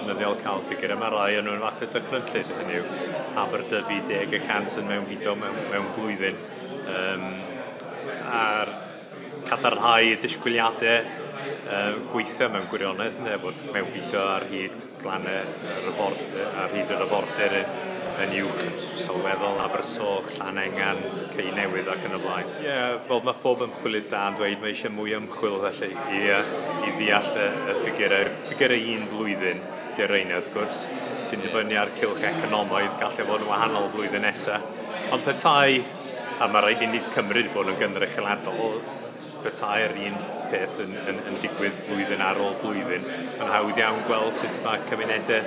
ddefnyddiol cael ffigurau. Mae rai yn nhw'n falle dychrynllyd, hynny yw Aberdyfi 10% yn mewnfudo mewn blwyddyn. A'r cadarnhau y disgwyliadau gweithio mewn gwirionedd, neu bod mewnfudo ar hyd glannau yr ar hyd yr afordir yn uwch yn sylweddol, Abersoch, Llanengan, Cei Newydd ac yn y blaen. Ie, yeah, fel mae pob ymchwilydd da yn dweud, mae eisiau mwy ymchwil felly i ddeall y ffigurau. Ffigurau un flwyddyn di'r rheina wrth gwrs, sy'n dibynnu ar cylch economaidd, gallai fod yn wahanol flwyddyn nesaf. Ond petai, a mae rhaid i ni cymryd bod yn gynrychioladol, petai'r un peth yn digwydd blwyddyn ar ôl blwyddyn, mae'n hawdd iawn gweld sut mae cymunedau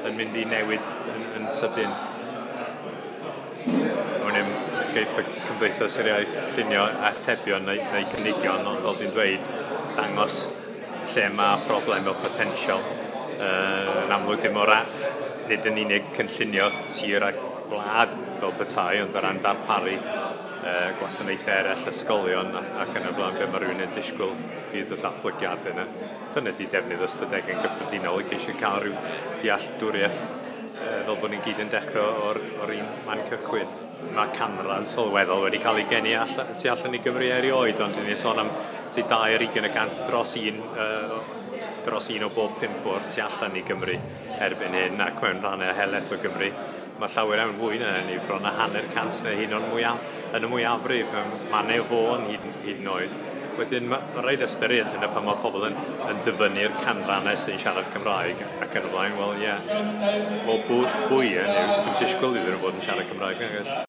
yn mynd i newid yn sydyn. O'n i'n geiff y Cymdeithas yr Iaith llunio atebion neu cynigion, ond fel dwi'n dweud, dangos lle mae problem o potensial. Yn amlwg dim o'r nid yn unig cynllunio tir a gwlad fel petai, ond o ran darparu gwasanaethau eraill, ysgolion ac yn y blaen, be mae rhywun yn disgwyl fydd y datblygiad yna. Dyna di defnydd ystadegau yn gyffredinol i ceisio cael rhyw dealltwriaeth fel bod ni'n gyd yn dechrau o'r un man cychwyn. Mae canran sylweddol wedi cael ei geni tu allan i Gymru erioed, ond ni'n sôn am 22% dros un o bob 5 o'r tu allan i Gymru erbyn hyn, ac mewn rhannau helaeth o Gymru mae llawer iawn fwy na hynny, bron a 0.5% neu hyn o'n yn y mwyafrif, mewn mannau Fôn hyd yn oed. Wedyn mae rhaid ystyried hynny pan mae pobl yn dyfynnu'r canrannau sy'n siarad Cymraeg ac yn y blaen, wel ie, yeah. Wel bwy yn yw, dim disgwyl iddyn nhw fod yn siarad Cymraeg.